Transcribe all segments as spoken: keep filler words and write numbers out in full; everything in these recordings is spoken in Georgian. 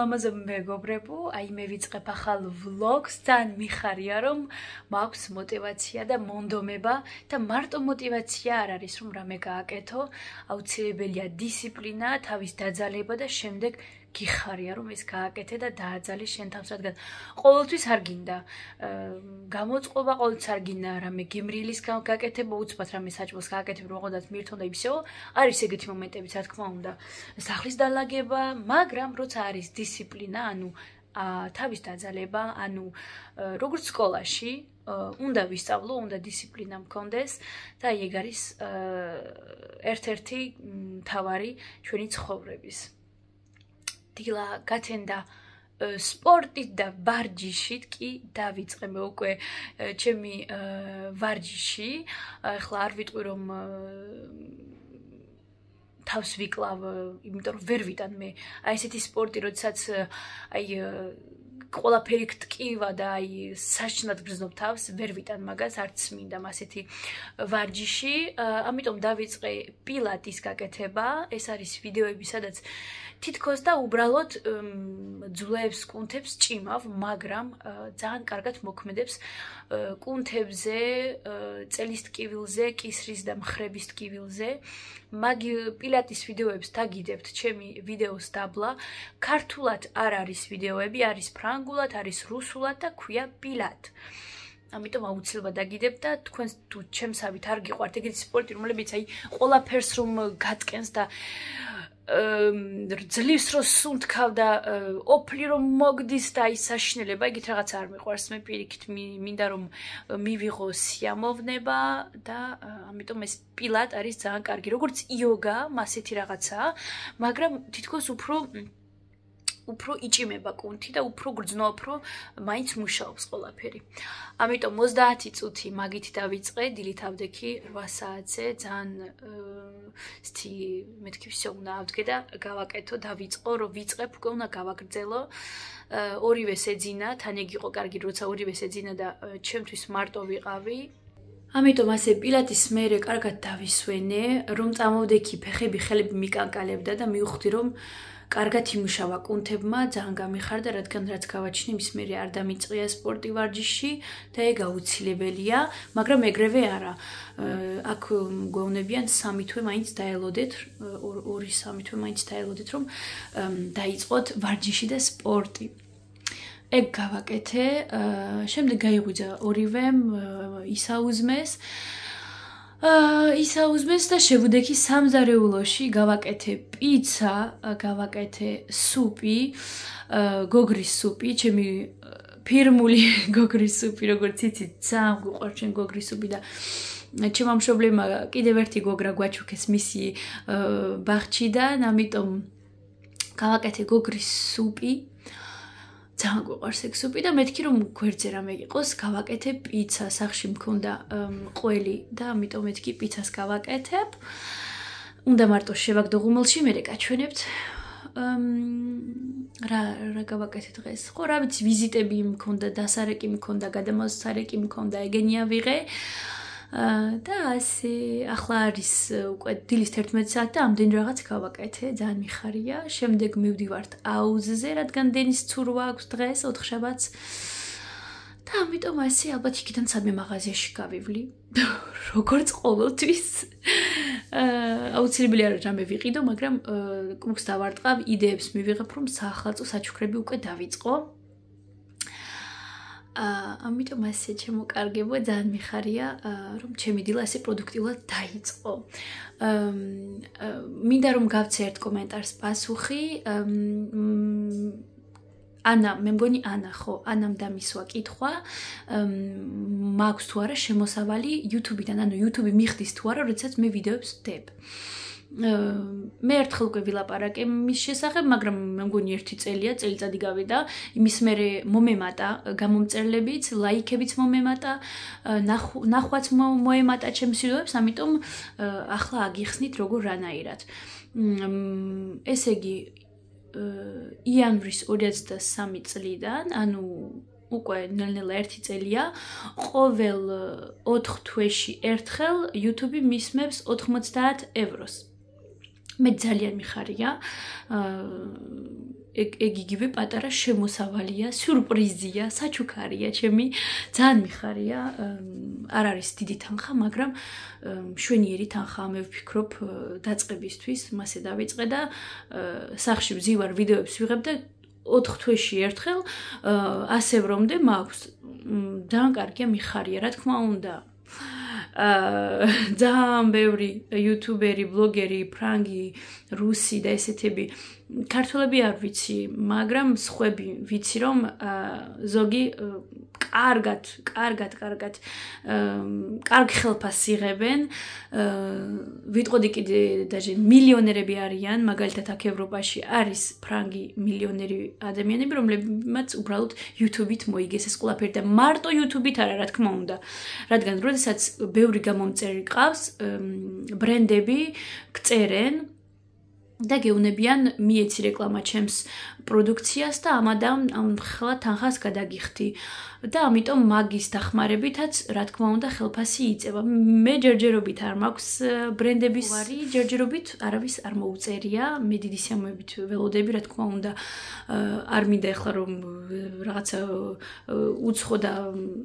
ლამაზ მეგობრებო, აი მე ვიწყებ ახალ ვლოგს, ძალიან მიხარია რომ მაქვს мотиваცია და მონდომება და მარტო мотиваცია არ არის რომ რამე გააკეთო, აუცილებელია დისციპლინა, თავის დაძალება და შემდეგ გიხარია რომ ეს გააკეთე და დააძალე შენ თავს, რადგან ყოველთვის არ გინდა გამოწყობა, ყოველთვის არ გინდა რამე გემრიელის გაკეთება, უცბად რამე საჭმელს გააკეთებ, რომ ოღონდ მირთო და ისეო, არის ეგეთი მომენტებიც, რა თქმა უნდა, სახლის დალაგება, მაგრამ როცა არის დისციპლინა, ანუ თავის დაძალება, ანუ როგორც სკოლაში, უნდა ვისწავლო, უნდა დისციპლინა მქონდეს და ეგ არის ერთ-ერთი მთავარი ჩვენი ცხოვრების. დილა გათენდა სპორტით და ვარჯიშით კი დავიწყე მე უკვე ჩემი ვარჯიში. ახლა არ ვიტყვი რომ თავს ვიკლავ, იმიტომ რომ ვერ ვიტან მე აი ესეთი სპორტი, როდესაც აი ყველაფერი გტკივა და აი საშნად გრძნობ თავს, ვერ ვიტან მაგას, არც მინდა ასეთი ვარჯიში. ამიტომ დავიწყე პილატის გაკეთება. ეს არის ვიდეოები, სადაც თითქოს და უბრალოდ ძვლებს, კუნთებს ჭიმავ, მაგრამ ძალიან კარგად მოქმედებს კუნთებზე, წელის ტკივილზე, კისრის და მხრების ტკივილზე. მაგ პილატის ვიდეოებს დაგიდებთ ჩემი ვიდეოს დაბლა. ქართულად არ არის ვიდეოები, არის ფრანგულად, არის რუსულად და ქვია პილატ. ამიტომ აუცილებლად დაგიდებთ და თქვენ თუ ჩემსავით არ გიყვართ ეგეთი სპორტი, რომლებიც აი ყველაფერს რომ გატკენს და ძლივს რო სუნთქავ და ოფლი რომ მოგდის და აი საშინელება, ეგეთ რაღაც არ მიყვარს. მე პირიქით მინდა რომ მივიღო სიამოვნება და ამიტომ ეს პილატ არის ძალიან კარგი. როგორც იოგა, ასეთი რაღაცაა, მაგრამ თითქოს უფრო უფრო იჭიმება კუნთი და უფრო გრძნობ, რომ მაინც მუშაობს ყველაფერი. ამიტომ ოცდაათი წუთი მაგით დავიწყე, დილით ავდექი რვა საათზე, ძალიან სთი მეთქი всё უნდა ავდგე და გავაკეთო, დავიწყო, რომ ვიწყებ, უკვე უნდა გავაგრძელო. ორივე შეძინა, თან ეგ იყო კარგი, როცა ორივე შეძინა და ჩემთვის მარტო ვიყავი. ამიტომ ასე პილატის მერე კარგად დავისვენე, რომ წამოვდექი, ფეხები, ხელები მიკანკალებდა და მივხვდი, რომ კარგად იმუშავა კუნთებმა, ძალიან გამიხარდა, რადგან რაც გავაჩინე, მის მერე არ დამიწყია სპორტი ვარჯიში და ეგ აუცილებელია, მაგრამ ეგრევე არა. აქ გვეუბნებიან სამი თვე მაინც დაელოდეთ, ორი სამი თვე მაინც დაელოდეთ, რომ დაიწყოთ ვარჯიში და სპორტი. ეგ გავაკეთე, შემდეგ გაიღვიძა ორივემ, ისაუზმეს. ისაუზმეს და შევუდექი სამზარეულოში, გავაკეთე პიცა, გავაკეთე სუპი, გოგრის სუპი, ჩემი ფირმული გოგრის სუპი, როგორც იცით, ძალიან გვიყვარს ჩემ გოგრის სუპი და ჩემმა მშობლებმა კიდევ ერთი გოგრა გვაჩუქეს მისი ბაღჩიდან, ამიტომ გავაკეთე გოგრის სუპი. ძალიან გვიყვარს ეგ სუპი და მეთქი რომ გვერდზე რამე იყოს, გავაკეთე პიცა, სახში მქონდა ყველი და ამიტომ მეთქი პიცას გავაკეთებ. უნდა მარტო შევაგდო ღუმელში, მერე გაჩვენებთ. რა რა გავაკეთე დღეს? ხო, რა ვიცი, ვიზიტები მქონდა, დასარეკი მქონდა, გადამოსარეკი მქონდა, ეგენი ავიღე. და ასე ახლა არის უკვე დილის თერთმეტი საათი და ამდენი რაღაც გავაკეთე, ძალიან მიხარია. შემდეგ მივდივართ აუზზე, რადგან დენის ცურვა აქვს დღეს, ოთხშაბათს. და ამიტომ ასე ალბათ იქიდან სადმე მაღაზიაში გავივლი. როგორც ყოველთვის. აუცილებელია რომ რამე ვიყიდო, მაგრამ კრუქს დავარტყავ, იდეებს მივიღებ, რომ საახალწლო საჩუქრები უკვე დავიწყო. ამიტომ ასე შემოკარგებო, ძალიან მიხარია, რომ ჩემი დილა ასე პროდუქტიულად დაიწყო. მინდა რომ გავცე ერთ კომენტარს პასუხი. ანა, მე მგონი ანა, ხო, ანამ დამისვა კითხვა, მაქვს თუ არა შემოსავალი YouTube-დან, ანუ YouTube მიხდის თუ არა, როდესაც მე ვიდეოებს ვდებ. მე ერთხელ უკვე ვილაპარაკე მის შესახებ, მაგრამ მე მგონი ერთი წელია, წელიწადი გავიდა, იმის მერე მომემატა გამომწერლებიც, ლაიქებიც მომემატა, ნახვაც მოემატა ჩემს ვიდეოებს, ამიტომ ახლა აგიხსნით როგორ რანაირად. ესე იგი იანვრის ორი ათი სამი წლიდან, ანუ უკვე ნელ-ნელა ერთი წელია, ყოველ ოთხ თვეში ერთხელ YouTube მისმევს ოთხმოცდაათ ევროს. მე ძალიან მიხარია ეგ იგივე პატარა შემოსავალია, სიურპრიზია, საჩუქარია, ჩემი ძალიან მიხარია. არ არის დიდი თანხა, მაგრამ მშვენიერი თანხაა, მე ვფიქრობ, დაწყებისთვის, მასე დავიწყე და სახში ვზივარ, ვიდეოებს ვიღებ და ოთხ თვეში ერთხელ ასევრომდე მაქვს. ძალიან კარგია, მიხარია, რა თქმა უნდა. ძალიან ბევრი იუთუბერი, ბლოგერი, ფრანგი, რუსი და ესეთები ქართველები არ ვიცი, მაგრამ სხვები ვიცი რომ ზოგი კარგად, კარგად, კარგად კარგ ხელფას იღებენ. ვიტყოდი კიდე даже მილიონერები არიან, მაგალითად აქ ევროპაში არის ფრანგი მილიონერი ადამიანები, რომლებმაც უბრალოდ YouTube-ით მოიგეს ეს ყველაფერი და მარტო YouTube-ით არა, რა თქმა უნდა. რადგან როდესაც ბევრი გამომწერი ყავს, ბრენდები გწერენ და გეუნებიან მიეცი რეკლამა ჩემს პროდუქციას და ამადამ ამ ხელა თანხას გადაგიხდი. და ამიტომ მაგის დახმარებითაც, რა თქმა უნდა, ხელფასი იწება. მე ჯერჯერობით არ მაქვს ბრენდების ვარი, ჯერჯერობით არავის არ მოუწერია, მე დიდი სიამოვნებით ველოდები, რა თქმა უნდა, არ მინდა ეხლა რომ რაღაცა უცხო და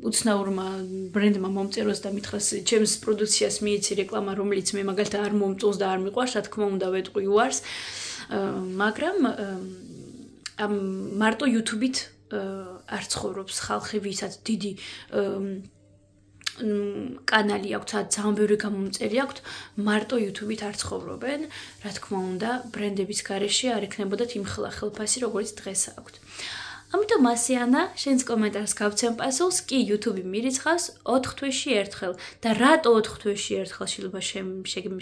უცნაურმა ბრენდმა მომწეროს და მითხრას ჩემს პროდუქციას მიეცი რეკლამა, რომელიც მე მაგალითად არ მომწონს და არ მიყვარს, რა თქმა უნდა, ვეტყვი უარს. მაგრამ ამ მარტო YouTube-ით არ ცხოვრობს ხალხი, ვისაც დიდი კანალი აქვს, ძალიან ბევრი გამომწერი აქვს, მარტო YouTube-ით არ ცხოვრობენ, რა თქმა უნდა, ბრენდების გარეშე არ ექნებოდათ იმ ხელფასი, როგორც დღეს აქვთ. ამიტომ ასიანა, შენს კომენტარს გავცემ პასუხს, კი YouTube-ი მირიცხავს ოთხ თვეში ერთხელ და რატო ოთხ თვეში ერთხელ შეიძლება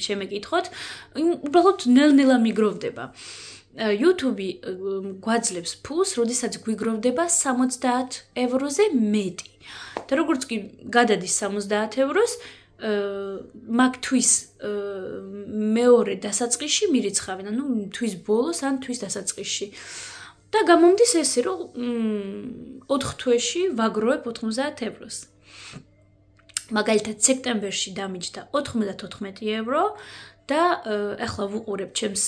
შემეკითხოთ, უბრალოდ ნელ-ნელა მიგროვდება. YouTube-ი გვაძლევს ფულს, როდესაც გვიგროვდება სამოცდაათ ევროზე მეტი. და როგორც კი გადადის სამოცდაათ ევროს, მაგ-თვის მეორე დასაწყისში მირიცხავენ, ანუ თვის ბოლოს ან თვის დასაწყისში. და გამომდის ესე, რომ ოთხ თვეში ვაგროვებ ოთხმოცდაათ ევროს. მაგალითად, სექტემბერში დამიჯდა ოთხმოცდათოთხმეტი ევრო და ახლა ვუყურებ ჩემს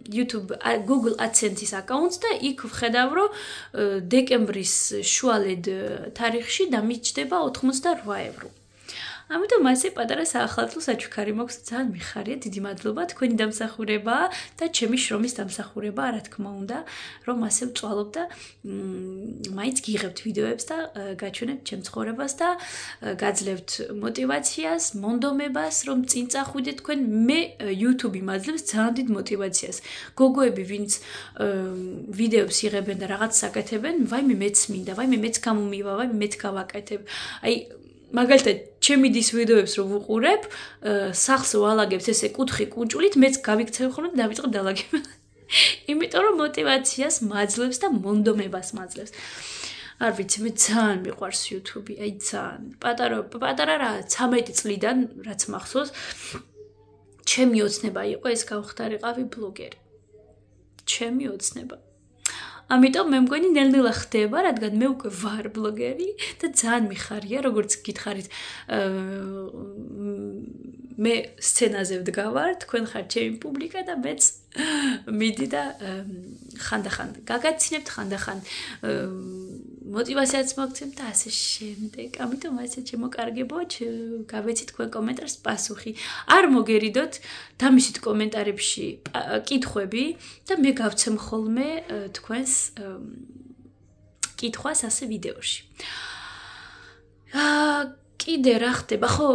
YouTube Google AdSense-ის აკაუნტს და იქ ვხედავ, რომ დეკემბრის შუალედ თარიღში დამიჯდება ოთხმოცდარვა ევრო. ამიტომ ასე პატარა საახალწლო საჩუქარი მაქვს, ძალიან მიხარია, დიდი მადლობა, თქვენი დამსახურება და ჩემი შრომის დამსახურება, რა თქმა უნდა, რომ ასე ვწვალობ და მაინც გიღებთ ვიდეოებს და გაჩვენებთ ჩემ ცხოვრებას და გაძლევთ მოტივაციას, მონდომებას, რომ წინ წახვიდეთ თქვენ. მე YouTube-ი მაძლევს ძალიან დიდ მოტივაციას. გოგოები, ვინც ვიდეოებს იღებენ და რაღაც საკეთებენ, ვაიმე მეც მინდა, ვაიმე მეც გამომივა, ვაიმე მეც გავაკეთებ. აი მაგალითად, ჩემი დის ვიდეოებს რო ვუყურებ, სახს ვალაგებს ესე კუთხი კუნჭულით, მეც გავიქცევ ხოლმე და დავიწყებ დალაგება. იმიტომ რომ მოტივაციას მაძლევს და მონდომებას მაძლევს. არ ვიცი, მე ძალიან მიყვარს YouTube-ი, აი ძალიან. პატარა პატარა რა, ცამეტი წლიდან, რაც მახსოვს, ჩემი ოცნება იყო ეს გავხდარიყავი ბლოგერი. ჩემი ოცნება. ამიტომ მე მგონი ნელ-ნელა ხდება, რადგან მე უკვე ვარ ბლოგერი და ძალიან მიხარია, როგორც გითხარით, მე სცენაზე ვდგავარ, თქვენ ხართ ჩემი პუბლიკა და მეც მიდი და ხანდახან გაგაცინებთ, ხანდახან მოტივაციაც მოგცემთ და ასე შემდეგ. ამიტომ ასე შემოკარგებო, გავეცით თქვენ კომენტარს პასუხი. არ მოგერიდოთ დამისით კომენტარებში კითხვები და მე გავცემ ხოლმე თქვენს კითხვას ასე ვიდეოში. კიდე რა ხდება, ხო,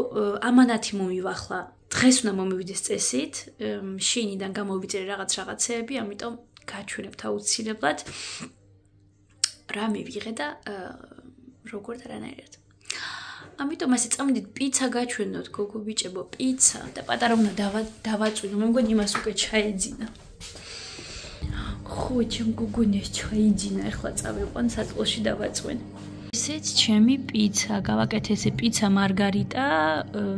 ამანათი მომივახლა. დღეს უნდა მომივიდეს წესით, შინიდან გამოვიწერე რაღაც რაღაცეები, ამიტომ გაჩვენებთ აუცილებლად. რა მივიღე და როგორ და რანაირად. ამიტომ ასე წამოდით პიცა გაჩვენოთ, გოგო ბიჭებო, პიცა და პატარა უნდა დავაწვინო, მე მგონი იმას უკვე ჩაეძინა. ხო, ჩემ გოგონეს ჩაიძინა, ახლა წავიყვან საწყლოში დავაწვენ. ესეც ჩემი პიცა, გავაკეთე ესე პიცა მარგარიტა,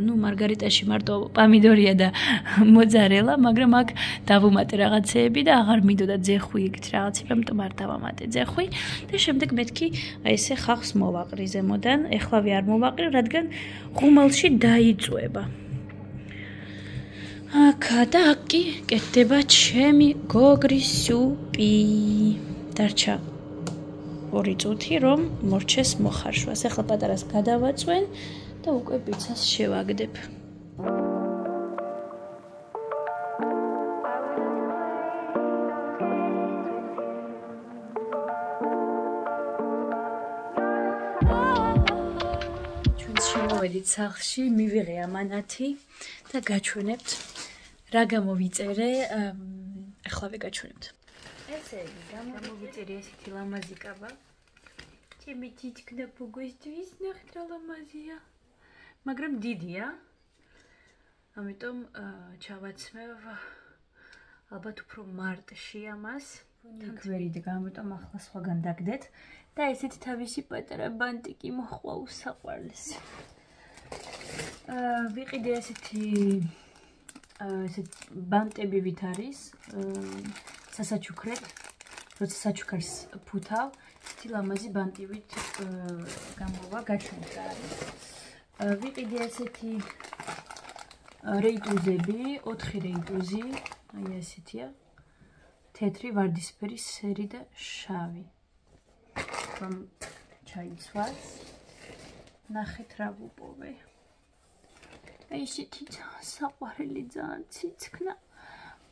ну მარგარიტაში მარტო პამიდორია და მოძარელა, მაგრამ აქ დავუმატე რაღაცეები და აღარ მინდოდა ძეხვი იქით რაღაცები, ამიტომ არ დავამატე ძეხვი და შემდეგ მეთქი აი ესე ხახს მოვაყრი ზემოდან, ეხლავე არ მოვაყრი, რადგან ღუმელში დაიწვება. აკა და აკი კეთდება ჩემი გოგრის სუპი. დარჩა ორი წუთი რომ მორჩეს მოხარშვას. ახლა პატარას გადავაწვენ და უკვე პიცას შევაგდებ. მოვედით სახლში, მივიღე ამანათი და გაჩვენებთ რა გამოვიწერე, ახლავე გაჩვენებთ. ესე იგი, გამოვიწერე ესეთი ლამაზი კაბა. ჩემი თითქნა ფუგვისთვის ნახეთ რა ლამაზია. მაგრამ დიდია. ამიტომ ჩავაცმევ ალბათ უფრო მარტში ამას. თქვერით, ამიტომ ახლა სხვაგან დაგდეთ და ესეთ თავისი პატარა ბანტიკი მოხვა უსაყვარლეს. ვიყიდე ესეთი ესეთ ბანტები ვით არის სასაჩუქრად, როცა საჩუქარს ფუთავ, ესეთი ლამაზი ბანტივით გამოვა გაჩვენეთ რა არის. ვიყიდე ესეთი რეიტუზები, ოთხი რეიტუზი, აი ესეთია. თეთრი, ვარდისფერი, სერი და შავი. რომ ჩაიცვას. ნახეთ რა ვუპოვე. აი ესეთი საყვარელი ძალიან ციცქნა.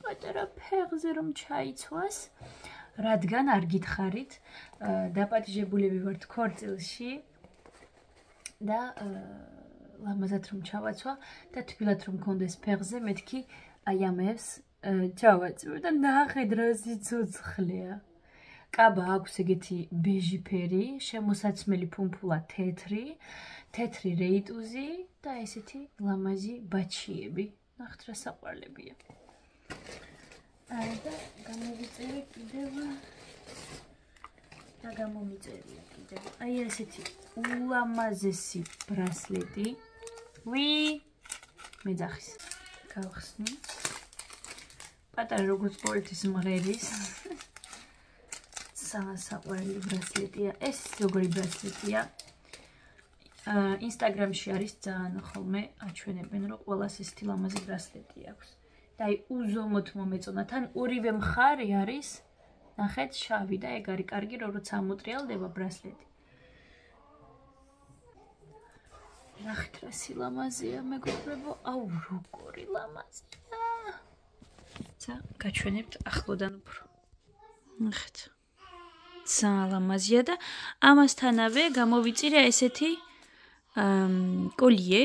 პატარა ფეხზე რომ ჩაიცვას. რადგან არ გითხარით, დაპატიჟებულები ვართ ქორწილში და ლამაზად რომ ჩავაცვა და თბილად რომ მქონდეს ფეხზე, მეთქი აი ამებს ჩავაწვევ და ნახეთ რა სიცოცხლეა. კაბა აქვს ეგეთი ბეჟი ფერი, შემოსაცმელი ფუმფულა თეთრი, თეთრი რეიტუზი და ესეთი ლამაზი ბაჩიები. ნახეთ რა საყვარლებია. და გამოვიწერე კიდევ და გამომიწერია კიდევ. აი ესეთი ულამაზესი ბრასლეტი. ვი მეძახის. გავხსნი. პატარა როგორც პოლეთის მღერის. საყვარელი ბრასლეტია. ეს როგორი ბრასლეტია? ინსტაგრამში არის ძალიან ხოლმე აჩვენებენ, რომ ყველას ესეთი ლამაზი ბრასლეტი აქვს. და აი უზომოდ მომეწონა. თან ორივე მხარე არის, ნახეთ, შავი და ეგ არის კარგი, რომ როცა ამოტრიალდება ბრასლეტი. ნახეთ რა სილამაზეა, მეგობრებო, აუ როგორი ლამაზია. ცა გაჩვენებთ ახლოდან უფრო. ნახეთ. ძალიან ლამაზია და ამასთანავე გამოვიწირე ესეთი კოლიე.